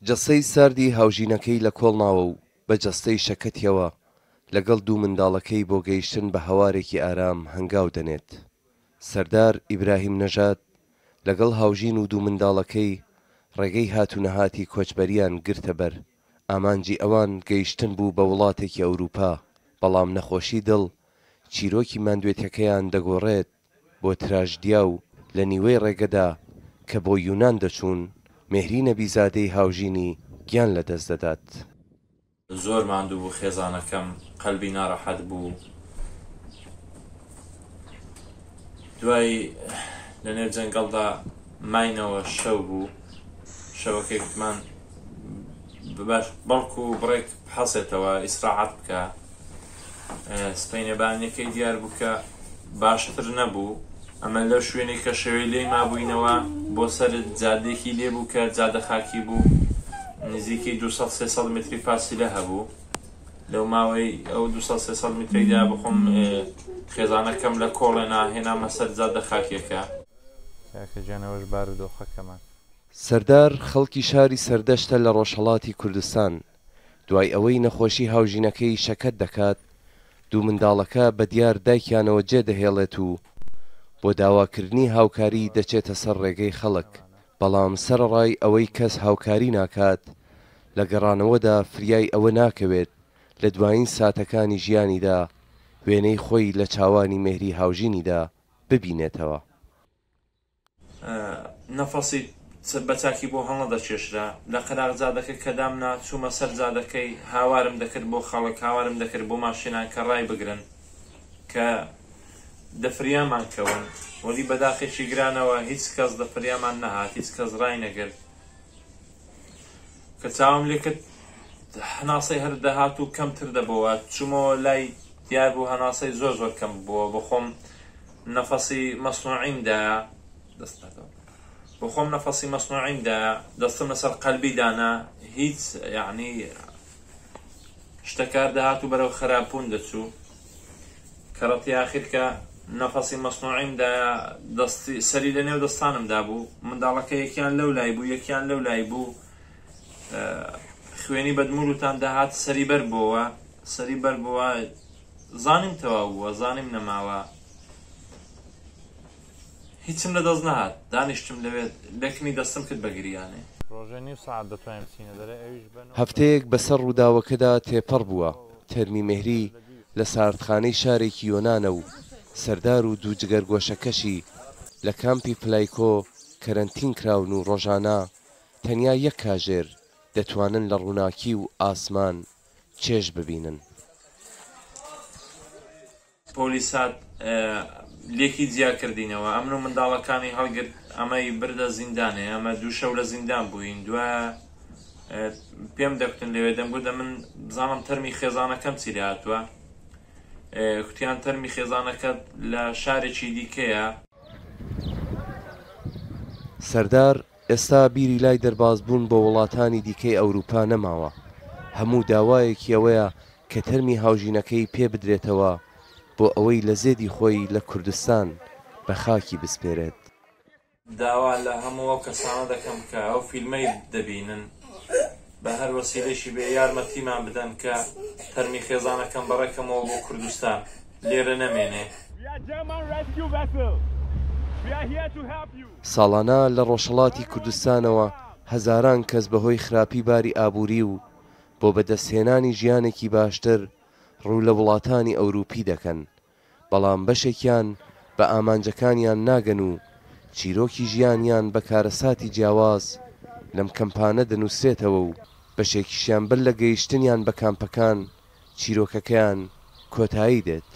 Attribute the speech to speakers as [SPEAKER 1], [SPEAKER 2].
[SPEAKER 1] جەستەی ساردی هاوژینەکەی لە کۆڵ ناوە و بە جەستەی شەکەتیەوە لەگەڵ دوو منداڵەکەی بۆ گەیشتن بە هەوارێکی ئارام هەنگاو دەنێت. سەردار ئیبراهیم نەژاد لەگەڵ هاوژین و دوو منداڵەکەی ڕێگەی هات و نەهاتی کۆچبەریان گرتە بەر، ئامانجی ئەوان گەیشتن بوو بە وڵاتێکی ئەوروپا، بەڵام نەخۆشی دڵ چیرۆکی ماندوێتیەکەیان دەگۆڕێت بۆ تراژدیا و لە نیوەی ڕێگەدا کە بۆ یونان دەچوون، مێهری نەبیزادەی هاوژینی گیان لەدەست دەدات.
[SPEAKER 2] زۆر ماندوو بوو خێزانەکەم قەلبی ناڕەحەت بوو دوای لە نێو جەنگەڵدا ماینەوە شەو بوو شەوەکەی کوتمان باش بەڵکو بڕێک بحەسێتەوە ئیسراعەت بکە سپەینێ بانیەکەی دیار بوو کە باشتر نەبوو. ئەمە لەو شوێنەی کە شەوێ لێی مابووینەوە بۆ سەر جادەیەکی لێ بوو کە جادە خاکی بوو نزیکەی 200 300 متری فاسیلە هەبوو لەو ماوەی ئەو 200 300 مترێکدا بخۆم خێزانەکەم لە کۆڵێنا هێنامە سەر جادە خاکیەکە.
[SPEAKER 3] کاکە گیان ئەوەش بارودۆخەکەمان.
[SPEAKER 1] سەردار خەڵکی شاری سەردەشتە لە ڕۆژهەڵاتی کوردستان، دوای ئەوەی نەخۆشی هاوژینەکەی شەکەت دەکات، دوو منداڵەکە بە دیار دایکیانەوە جێدەهێڵێت و بۆ داواکردنی هاوکاری دەچێتە سەر ڕێگەی خەڵک، بەڵام سەرەڕای ئەوەی کەس هاوکاری ناکات، لە گەڕانەوەدا فریای ئەوە ناکەوێت لە دوایین ساتەکانی ژیانیدا وێنەی خۆی لە چاوانی مێهری هاوژینیدا ببینێتەوە.
[SPEAKER 2] نەفەسی بە چاکی بۆ هەڵنەدەکێشرا. لە قەراغ جادەکە کە دامنا، چوومە سەر جادەکەی، هاوارم دەکرد بۆ خەڵک، هاوارم دەکرد بۆ ماشێنان کە ڕایبگرن، کە دە فریامان کەون. وەلی بە داخێکی گرانەوە هیچ کەس دە فریامان نەهات، هیچ کەس ڕاینەگرت. کە چاوم لێ کرد هەناسەی هەر دەهات و کەمتر دەبۆوە. چوومەوە لای، دیار بوو هەناسەی زۆر زۆر کەم ببۆوە. بە خۆم نەفەسی مەسنوعیم دایە دەست هاتەوە بۆ خۆم نەفەسی مەسنوعیم دایە دەستم لەسەر قەلبی دانا هیچ یعنی شتەکار دەهات و بەرەو خراپبوون دەچوو کەڕەتی ئاخیر کە نەفەسی مەسنوعیم دایە دەستی سەری لە نێو دەستانم دابوو منداڵەکە یەکیان لەو لای بوو یەکیان لەو لای بوو خوێنی بەدمولوتان دەهات سەری بەر بۆوە سەری بەر بۆوە زانیم تەواو بووە زانیم نەماوە هیچم لە دەست نەهات دانیشتم لەوێ لەکنی دەستم کرد بە گریانێ.
[SPEAKER 3] ڕۆژێ نیو سەعات دەتوانین بچینە دەرێ ئەویش بە نۆ
[SPEAKER 1] هەفتەیەک بەسەر ڕووداوەکەدا تێپەڕ بووە، تەرمی مێهری لە ساردخانەی شارێکی یۆنانە و سەردار و دوو جگەرگۆشەکەشی لە کامپی فلایکۆ کەرەنتین کراون و ڕۆژانە تەنیا یەک کاژێر دەتوانن لە ڕووناکی و ئاسمان چێژ ببینن.
[SPEAKER 2] پۆلیس هات لێکی جیا کردینەوە ئەمن و منداڵەکانی هەڵگرت ئەمەی بردە زیندانێ ئەمە دوو شەو لە زیندان بووین دوایە پێم دەکوتن لەوێ دەمگوت دە من بزانم تەرمی خێزانەکەم چی لێ هاتووە کوتیان تەرمی خێزانەکەت لە شارێکی دیکەیە.
[SPEAKER 1] سەردار ئێستا بیری لای دەربازبوون بۆ وڵاتانی دیکەی ئەوروپا نەماوە، هەموو داوایەکی ئەوەیە کە تەرمی هاوژینەکەی پێ بدرێتەوە بۆ ئەوەی لە زێدی خۆی لە کوردستان بە خاکی بسپێرێت.
[SPEAKER 2] داوا لە هەموو ئەو کەسانە دەکەم کە ئەو فیلمەی دەبینن بە هەر وەسیلەیشی بێ یارمەتیمان بدەن کە تەرمی خێزانەکەم بەڕێکەمەوە بۆ کوردستان لێرە نەمێنێ.
[SPEAKER 1] ساڵانە لە ڕۆژهەڵاتی کوردستانەوە هەزاران کەس بەهۆی خراپی باری ئابووری و بۆ بەدەستهێنانی ژیانێکی باشتر ڕوو لە وڵاتانی ئەوروپی دەکەن، بەڵام بەشێکیان بە ئامانجەکانیان ناگەن و چیرۆکی ژیانیان بە کارەساتی جیاواز لەم کەمپانە دەنووسرێتەوە و بەشێکیشیان بەر لە گەیشتنیان بە کامپەکان چیرۆکەکەیان کۆتایی دێت.